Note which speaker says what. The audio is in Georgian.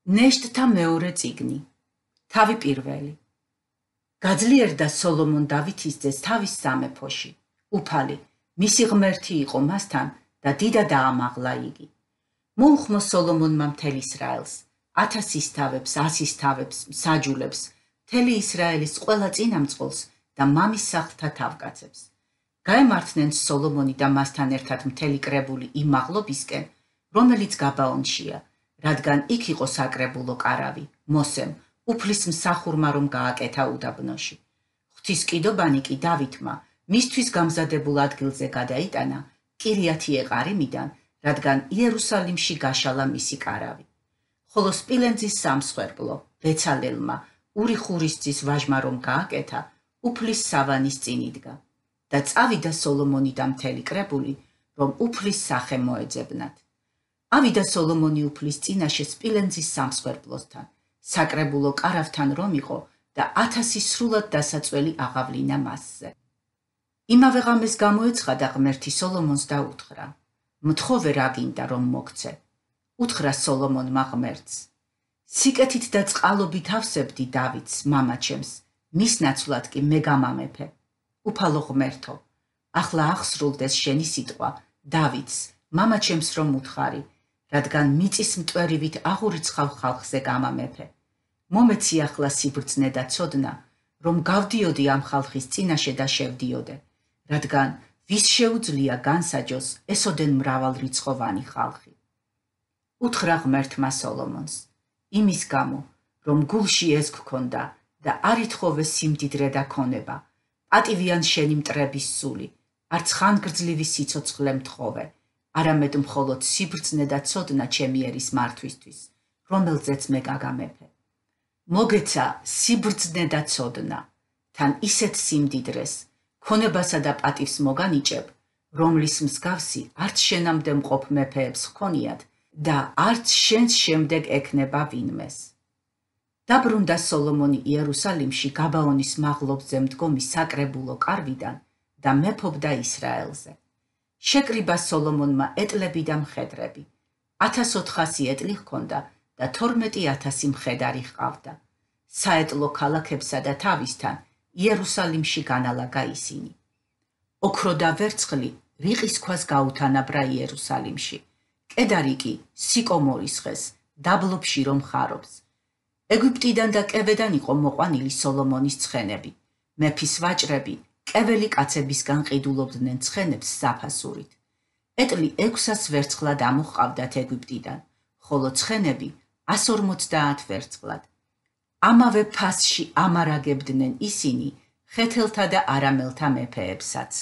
Speaker 1: ნეშტთა მეორე წიგნი. თავი პირველი. გაძლიერდა სოლომონ დავითის ძეს თავის სამეფოში. უფალი, მისი ღმერთი იყო მასთან და დიდად აამაღლა იგი. მოუხმო სოლომონმა მთელ ისრაელს, 1000 თავებს, 100 თავებს, მსაჯულებს, მთელი ისრაელის ყველა წინამძღოლს და მამის სახლთა თავკაცებს. გაემართნენ სოლომონი და მასთან ერთად მთელი კრებული იმ მაღლობისკენ, რომელიც გაბაონშია, რადგან იქ იყო საკრებულო კარავი, მოსემ, უფლის მსახურმა რომ გააკეთა უდაბნოში. ღვთისმკიდობანი კი დავითმა მისთვის გამზადებულ ადგილზე გადაიტანა კირიათიეყარიმიდან, რადგან იერუსალიმში გაშალა მისი კარავი. ხოლო სპილენძის სამსხვერპლო ბეცალელმა ურიხურისძის ვაჟმა რომ გააკეთა, უფლის სავანის წინ იდგა და წავიდა სოლომონი და მთელი კრებული, რომ უფლის სახე მოეძებნათ. ავიდა სოლომონი უფლის წინაშე სპილენძის სამსხვერპლოსთან, საკრებულო კარავთან რომ იყო და 1000 სრულად დასაწველი აღავლინა მასზე. იმავე ღამეს გამოეცხადა ღმერთი სოლომონს და უთხრა: მთხოვე რა გინდა რომ მოგცე? უთხრა სოლომონმა ღმერთს: სიკეთით და წყალობით ავსებდი დავითს, მამაჩემს, მის ნაცვლად კი მე გამამეფე. უფალო ღმერთო, ახლა აღსრულდეს შენი სიტყვა დავითს, მამაჩემს რომ უთხარი, რადგან მიწის მტვერივით აღურიცხავ ხალხზე გამამეფე. მომეცი ახლა სიბრძნე და ცოდნა, რომ გავდიოდი ამ ხალხის წინაშე და შევდიოდე, რადგან ვის შეუძლია განსაჯოს ესოდენ მრავალრიცხოვანი ხალხი. უთხრა ღმერთმა სოლომონს: იმის გამო, რომ გულში ეს გქონდა და არ ითხოვე სიმდიდრე და ქონება, პატივიან შენი მტრების სული, არც ხანგრძლივი სიცოცხლე მთხოვე, არამედ მხოლოდ სიბრძნე და ცოდნა ჩემი ერის მართვისთვის, რომელზეც მე გაგამეფე. მოგეცა სიბრძნე და ცოდნა, თან ისეთ სიმდიდრეს, ქონებასა და პატივს მოგანიჭებ, რომლის მსგავსი არც შენამდე მყოფ მეფეებს ჰქონიათ და არც შენს შემდეგ ექნება ვინმეს. დაბრუნდა სოლომონი იერუსალიმში გაბაონის მაღლობზე მდგომი საკრებულო კარვიდან და მეფობდა ისრაელზე. შეკრიბა სოლომონმა ეტლები და მხედრები, 1400 ეტლი ჰქონდა და 12000 მხედარი ჰყავდა. საეტლო ქალაქებსა და თავისთან იერუსალიმში განალაგა ისინი. ოქრო და ვერცხლი რიყის ქვას გაუთანაბრა იერუსალიმში, კედარი კი სიკომორის ხეს, დაბლობში რომ ხარობს. ეგვიპტიდან და კევედან იყო მოყვანილი სოლომონის ცხენები, მეფის ვაჭრები კეველი კაცებისგან ყიდულობდნენ ცხენებს საფასურით. ეტლი 600 ვერცხლად ამოჰყავდათ ეგვიპტიდან, ხოლო ცხენები 150 ვერცხლად. ამავე ფასში ამარაგებდნენ ისინი ხეთელთა და არამელთა მეფეებსაც.